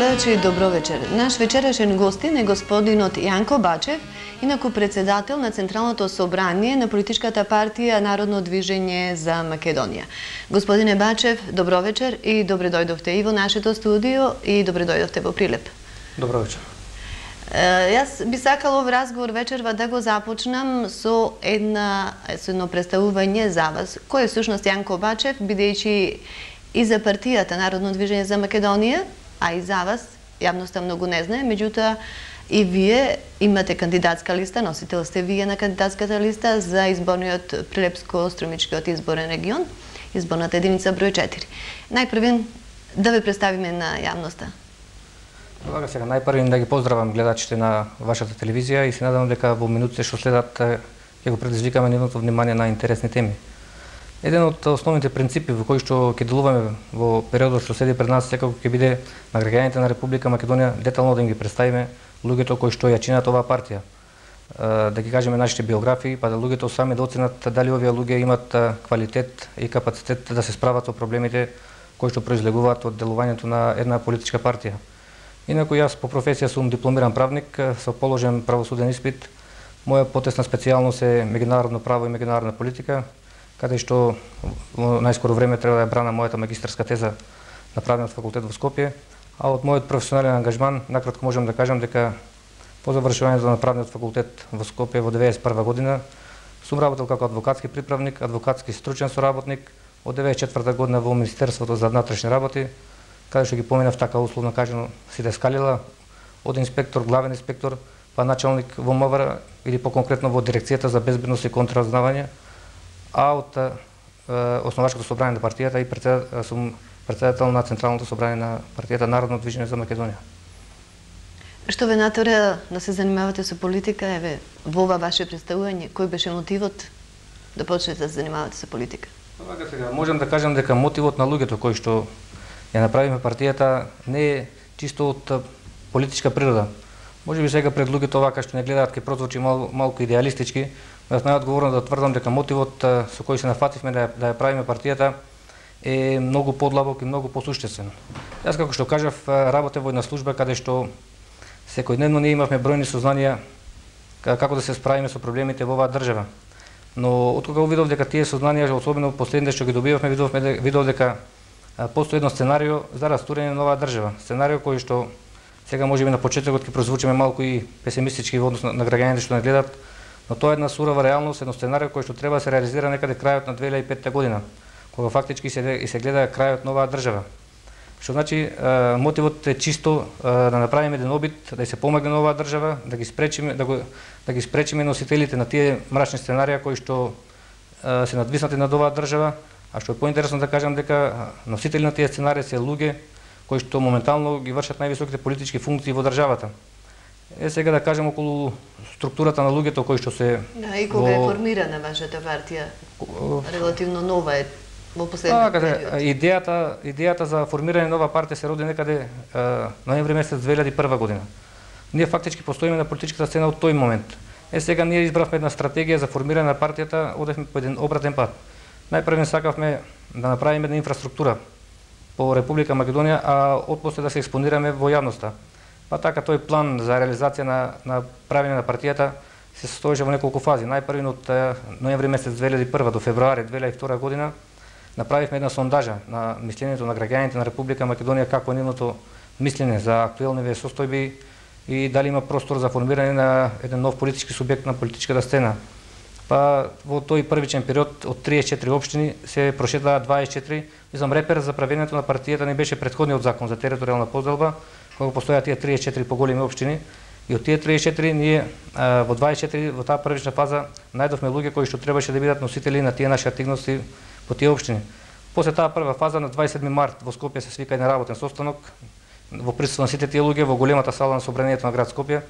гледачи, добро вечер. Наш вечерашен гостин е господинот Јанко Бачев, инаку председател на Централното собрание на политичката партија Народно движење за Македонија. Господине Бачев, добро вечер и добре дојдовте и во нашето студио и добре дојдовте во Прилеп. Добро вечер. Јас би сакала овој разговор вечерва да го започнам со едно представување за вас. Кој е всушност Јанко Бачев, бидејќи и за партијата Народно движење за Македонија, а и за вас, јавноста многу не знае, меѓутоа и вие имате кандидатска листа, носител сте вие на кандидатската листа за изборниот Прилепско-Струмичкиот изборен регион, изборната единица број 4. Најпрвен да ве представиме на јавноста. Добре, сега најпрвен да ги поздравам гледачите на вашата телевизија и се надевам дека во минутите што следат ќе го предизвикаме нивното внимание на интересни теми. Еден од основните принципи во кои што ќе делуваме во периодот што следи пред нас секако ќе биде на граѓаните на Република Македонија детално да им ги представиме луѓето кои што ја чинат оваа партија. Да ги кажеме нашите биографии, па да луѓето сами да оценат дали овие луѓе имат квалитет и капацитет да се справат со проблемите кои што произлегуваат од делувањето на една политичка партија. Инаку јас по професија сум дипломиран правник со положен правосуден испит. Моја потесна специјалност е меѓународно право и меѓународна политика, каде што во најскоро време треба да ја брана мојата магистарска теза на Правниот факултет во Скопје, а од мојот професионален ангажман накратко можам да кажам дека по завршувањето на Правниот факултет во Скопје во 1991 година сум работел како адвокатски приправник, адвокатски стручен соработник, од 1994 година во Министерството за внатрешни работи, каде што ги поминав така условно кажано сите скалила, од инспектор, главен инспектор, па началник во МВР или по-конкретно во Дирекцијата за безбедност и контраразузнавање, а од основачкото собрание на партијата и сум председател на Централното собрание на партијата Народно движење за Македонија. Што ве натера да се занимавате со политика, еве, во ова ваше представување, кој беше мотивот да почнете да се занимавате со политика? Сега можам да кажам дека мотивот на луѓето кои што ја направиме партијата не е чисто од политичка природа. Може би сега пред луѓето вака што не гледаат ке прозвучи малку идеалистички, јас најодговорно да тврдам дека мотивот со кој се нафативме да ја правиме партијата е многу подлабок и многу посуштествен. Јас како што кажав работев во една служба каде што секојдневно ние имавме бројни сознанија како да се справиме со проблемите во оваа држава. Но откога видов дека тие сознанија, особено последните што ги добивавме, видов дека постои едно сценарио за растурење на оваа држава. Сценарио кој што сега можеби на почетокот ќе прозвучиме малку и песимистички во однос на граѓаните што не гледат, но тоа е една сурова реалност, едно сценарио кој што треба да се реализира некаде крајот на 2005 година, кога фактички се гледа крајот на оваа држава. Што значи мотивот е чисто да направиме еден обид да се помогне на оваа држава, да ги спречиме носителите на тие мрачни сценарија кои што се надвиснати над оваа држава, а што е поинтересно да кажам дека носители на тие сценарии се луѓе кои што моментално ги вршат највисоките политички функции во државата. Сега да кажем околу структурата на луѓето кои што се... Да, и кога е формирана вашата партија? Релативно нова е во последниот период. Идејата за формирање на нова партија се роди некаде ноември месец 2001 година. Ние фактички постоиме на политичката сцена од тој момент. Сега ние избравме една стратегија за формирање на партијата, одевме по еден обратен пат. Најпрвен сакавме да направиме една инфраструктура по Република Македонија, а отпосле да се експонираме во јавноста. Па така тој план за реализација на правење на партијата се состоеше во неколку фази. Најпрвен од ноември месец 2001 до февруари 2002 година направивме една сондажа на мислењето на граѓаните на Република Македонија, како е нивното мислење за актуелни состојби и дали има простор за формирање на еден нов политички субјект на политичката сцена. Па во тој првичен период од 34 општини се прошетаа 24. Мислам, репер за правењето на партијата не беше претходниот закон за територијална поделба, кога постојаа тие 34 поголеми општини. И од тие 34 ние во 24 во таа првична фаза најдовме луѓе кои што требаше да бидат носители на тие наши активности по тие општини. После таа прва фаза на 27 март во Скопје се свика еден работен состанок во присуство на сите тие луѓе во големата сала на собранието на град Скопје,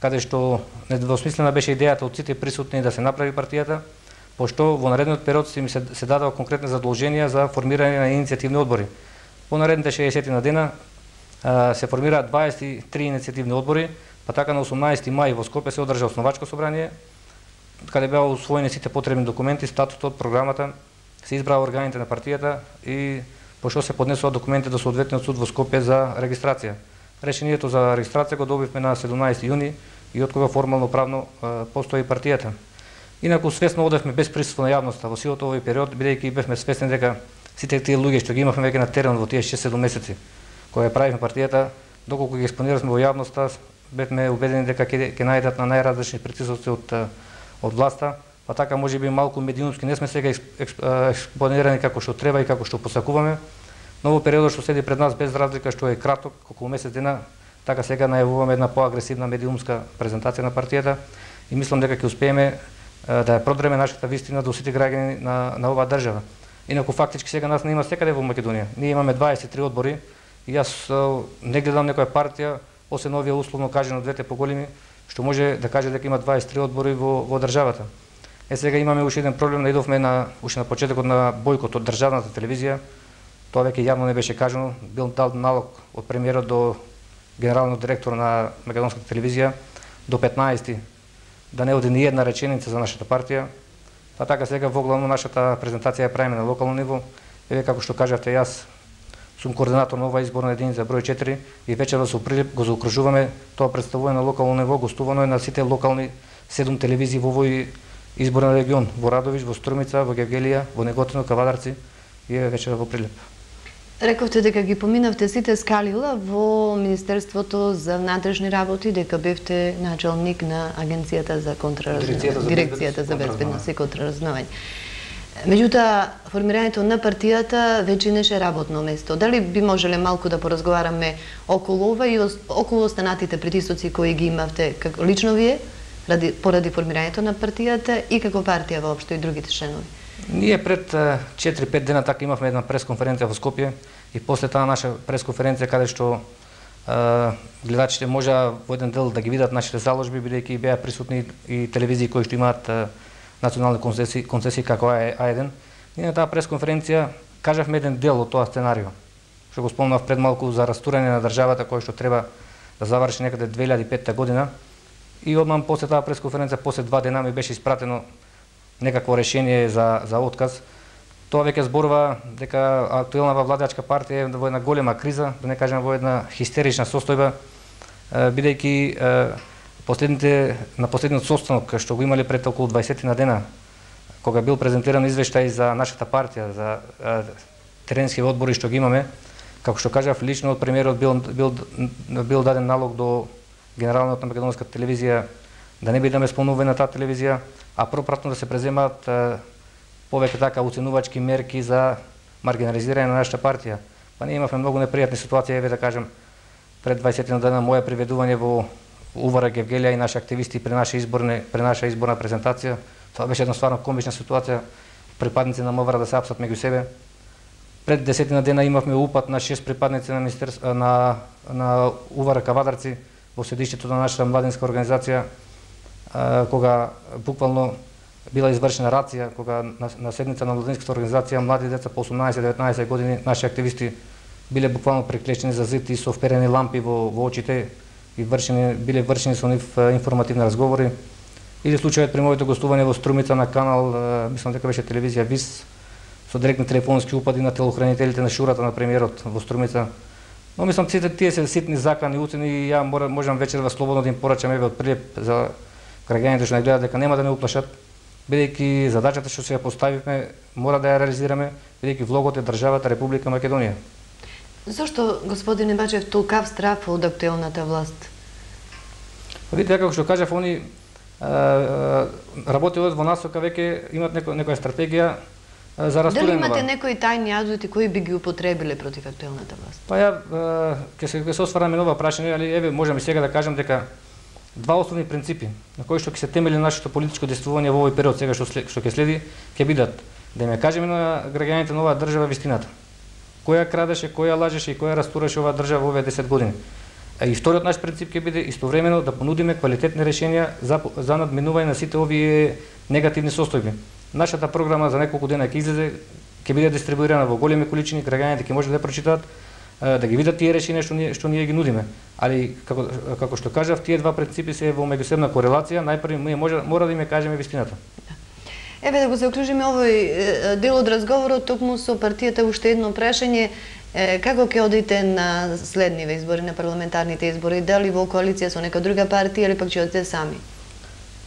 каде што недвосмислена беше идејата од сите присутни да се направи партијата, пошто во наредниот период се дадува конкретни задолженија за формирање на иницијативни одбори. По наредните 60 на дена се формираат 23 иницијативни одбори, па така на 18 мај во Скопје се одржа основачко собрание, каде беа усвоени сите потребни документи, статутот, програмата, се избраа органите на партијата и пошто се поднесува документи до соодветниот суд во Скопје за регистрација. решението за регистрација го добивме на 17 јуни и од кога формално правно постои партијата. Инаку свесно одевме без присуство на јавноста во силата овој период, бидејќи бевме свесни дека сите тие луѓе што ги имавме веќе на терен во тие 6-7 месеци кога ја правивме партијата, доколку ги експонираме во јавноста, бевме убедени дека ќе најдат на најразлични притисоци од власта, па така можеби малку медиумски не сме сега експонирани како што треба и како што посакуваме. Но во периодот што седи пред нас, без разлика што е краток, околу месец дена, така сега најавуваме една поагресивна медиумска презентација на партијата и мислам дека ќе успееме да ја продреме нашата вистина до сите граѓани на оваа држава. Инаку фактички сега нас не има секаде во Македонија. Ние имаме 23 одбори и јас не гледам некоја партија, освен овие условно кажано двете поголеми, што може да каже дека има 23 одбори во државата. Сега имаме уште еден проблем, наидовме уште на почетокот на бојкот од државната телевизија. Тоа веќе јавно не беше кажано, бил дал налог од премиерот до генералниот директор на македонската телевизија до 15 да не оди ни една реченица за нашата партија. Па така сега воглавно нашата презентација ја правиме на локално ниво. Еве како што кажавте, јас сум координатор на оваа изборна единица број 4 и вечерва со Прилеп го заокружуваме тоа представување на локално ниво, гостувано е на сите локални 7 телевизии во овој изборен регион, во Радовиш, во Струмица, во Гевгелија, во Неготино, Кавадарци и вечерва во Прилеп. Рековте дека ги поминавте сите скалила во Министерството за внатрешни работи, дека бевте началник на Агенцијата за Дирекцијата за безбедност и контраразузнавање. Меѓутоа, формирањето на партијата веќе неше работно место. Дали би можеле малку да поразговараме околу ова и околу останатите притисоци кои ги имавте лично вие, поради формирањето на партијата и како партија воопшто и другите членови? Ние пред 4-5 дена така имавме една пресконференција во Скопје и после таа наша пресконференција каде што гледачите можа во еден дел да ги видат нашите заложби, бидејќи беа присутни и телевизии кои што имаат национални концесии како А1. Ние на таа пресконференција кажавме еден дел од тоа сценарио, што го спомнав пред малку за растурање на државата кој што треба да заврши некаде 2005 година. И одмам после таа пресконференција, после 2 дена ми беше испратено некакво решение за отказ. Тоа веќе зборува дека актуелната владачка партија е во една голема криза, да не кажем во една хистерична состојба, бидејќи на последниот состанок што го имале пред околу 20 на дена, кога бил презентиран извештај за нашата партија, за теренски одбори што ги имаме, како што кажав, лично од премиерот бил даден налог до генералниот на македонската телевизија да не бидеме спомнувани на таа телевизија, а пропратно да се преземаат повеќе така оценувачки мерки за маргинализирање на нашата партија. Па ние имавме многу непријатни ситуации, еве да кажем, пред 20 дена моја приведување во УВР Гевгелија и наши активисти при наша изборна презентација. Тоа беше една стварно комична ситуација, припадници на МВР да се апсат меѓу себе. Пред 10 дена имавме упад на 6 припадници на УВР Кавадарци во седиштето на нашата младинска организација, кога буквално била извршена рација, кога на седница на младинската организација млади деца по 18-19 години, наши активисти биле буквално приклечени за зид и со вперени лампи во очите и биле вршени со нив информативни разговори. Или случајот при моето гостување во Струмица на канал, мислам дека беше телевизија ВИС, со директни телефонски упади на телохранителите на шурата на премиерот во Струмица. Но мислам, тие се ситни закани уцени и ја можам вечерва слободно да им порачам еве од Прилеп за граѓаните што не гледат дека нема да не уплашат, бидејќи задачата што се ја поставивме мора да ја реализираме, бидејќи влогот е државата Република Македонија. Зошто, господине Бачев, толкав страф од актуелната власт? Видите, како што кажав, они работелот во насока веќе имат некоја стратегија за растурање. Дали имате некои тајни адути кои би ги употребиле против актуелната власт? Па ја ќе се освараме на ова прашање, али еве можеме сега да кажам дека два основни принципи на кои што ќе се темели нашето политичко действување во овој период сега што ќе следи, ќе бидат да им кажеме на граѓаните на оваа држава вистината. Која крадеше, која лажеше и која растураше оваа држава во овие 10 години. И вториот наш принцип ќе биде истовремено да понудиме квалитетни решенија за надминување на сите овие негативни состојби. Нашата програма за неколку дена ќе излезе, ќе биде дистрибуирана во големи количини, граѓаните ќе може да ја прочитаат, да ги видат тие решенија што ние ги нудиме. Али како што кажав, тие два принципи се во меѓусебна корелација, најпрви ние мора да им кажеме вистината. Еве да го заокружиме овој дел од разговорот, токму со партијата уште едно прашање. Како ќе одите на следниве избори, на парламентарните избори? Дали во коалиција со нека друга партија или пак ќе одите сами?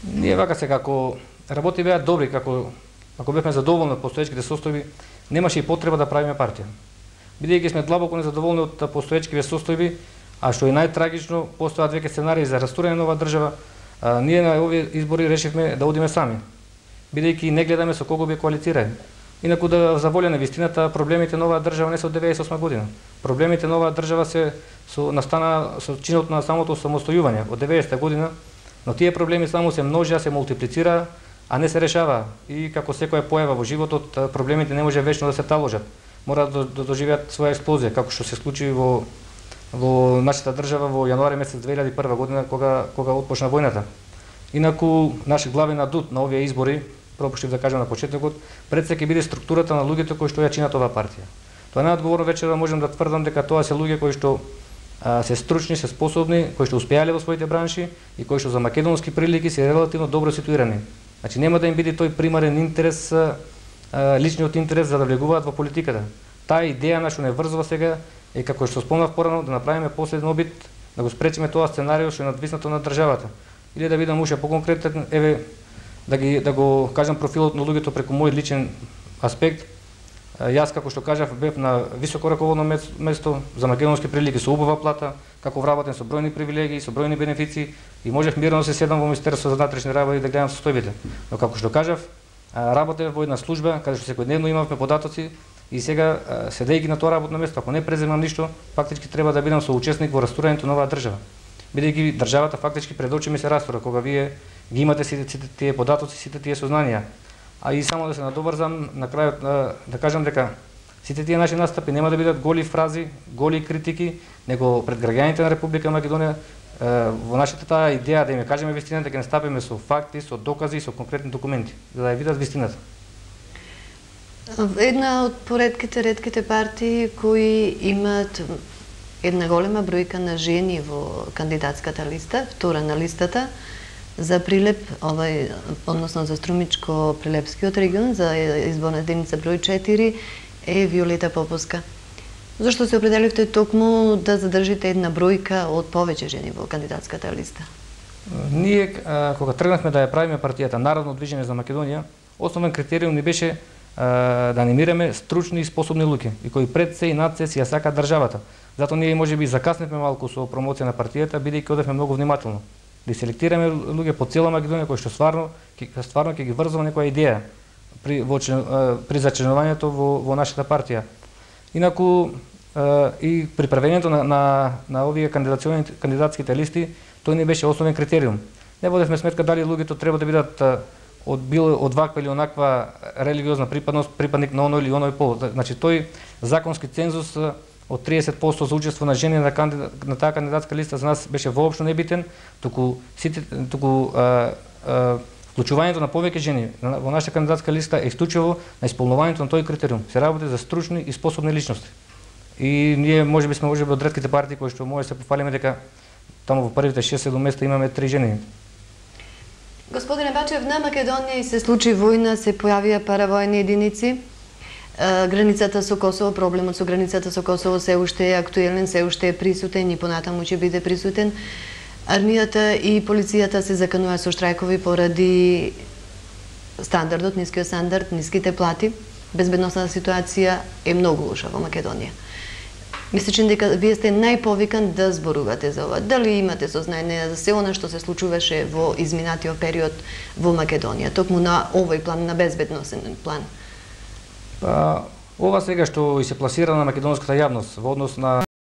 Ние вака се како работи беа добри, ако бевме задоволни од постоечките состојби, немаше и потреба да правиме партија. Бидејќи сме длабоко незадоволни од постоечките состојби, а што е најтрагично, постојат веќе сценарии за растурање на оваа држава, ние на овие избори решивме да одиме сами, бидејќи не гледаме со кого би коалицираме. Инаку да за волја на вистината, проблемите на оваа држава не се од 98 година. Проблемите на оваа држава се настана со чинот на самото самостојување од 90-та година, но тие проблеми само се множија, се мултиплицира, а не се решава. И како секоја појава во животот, проблемите не може вечно да се таложат. Мора да доживеат своја експлозија, како што се случи во нашата држава во јануари месец 2001 година, кога отпочна војната. Инаку, наш главен адут на овие избори, пропуштив да кажам на почетокот, пред се ќе биде структурата на луѓето кои што ја чинат оваа партија. Тоа најодговорно вечера можам да тврдам дека тоа се луѓе кои што се стручни, се способни, кои што успеале во своите бранши и кои што за македонски прилики се релативно добро ситуирани. Значи нема да им биде тој примарен интерес, личниот интерес за да влегуваат во политиката. Таа идеја на што не врзува сега е, како што спомнав порано, да направиме последен обид да го спречиме тоа сценарио што е надвиснато на државата. Или да бидам уште поконкретен, еве да го кажам профилот на луѓето преку мој личен аспект. Јас, како што кажав, бев на високо раководно место за македонски прилики со убава плата, како вработен со бројни привилегии, со бројни бенефиции и можев мирно да се седам во Министерството за внатрешни работи и да гледам состојбите. Но како што кажав, работев во една служба каде што секојдневно имавме податоци и сега, седејќи на тоа работно место, ако не преземам ништо, фактички треба да бидам соучесник во растурањето на оваа држава. Бидејќи државата фактички пред очи ми се растура, кога вие ги имате сите тие податоци, сите тие сознанија. А и само да се надоврзам на крајот да кажам дека сите тие наши настапи нема да бидат голи фрази, голи критики, него пред граѓаните на Република Македонија во нашата таа идеја да им кажеме вистината, дека не стапиме со факти, со докази и со конкретни документи, за да ја видат вистината. Една од редките партии кои имаат една голема бројка на жени во кандидатската листа, втора на листата, за Прилеп, односно за Струмичко-Прилепскиот регион, за изборна единица број 4, е Виолета Поповска. Зошто се определивте токму да задржите една бројка од повеќе жени во кандидатската листа? Ние, кога тргнахме да ја правиме партијата Народно движење за Македонија, основен критериум ни беше да анимираме стручни и способни луѓе, и кои пред се и над се си ја сакаат државата. Затоа ние можеби закасневме малку со промоција на партијата, бидејќи одевме многу внимателно. Да селектираме луѓе по цела Македонија кои што стварно ќе ги врзува некоја идеја при зачленувањето во нашата партија. Инаку и при правењето на овие кандидатските листи, тој не беше основен критериум. Не водевме сметка дали луѓето треба да бидат од ваква или онаква религиозна припадност, припадник на оној или оној пол. Значи тој законски цензус од 30% за учество на жени на таа кандидатска листа за нас беше воопшто небитен, туку вклучувањето на повеќе жени во нашата кандидатска листа е исклучиво на исполнувањето на тој критериум. Се работи за стручни и способни личности. И ние можеби сме од ретките партии кои што може се пофалиме дека таму во првите 6-7 места имаме 3 жени. Господине Бачев, на Македонија и се случи војна, се појавија паравојни единици. Границата со Косово, проблемот со границата со Косово се уште е актуелен, се уште е присутен и понатаму ќе биде присутен. Армијата и полицијата се закануваат со штрајкови поради стандардот, нискиот стандард, ниските плати. Безбедносната ситуација е многу лоша во Македонија. Мислечен дека вие сте најповикан да зборувате за ова. Дали имате сознање за се она што се случуваше во изминатиот период во Македонија, токму на овој план, на безбедносен план? Ова сега што и се пласира на македонската јавност во однос на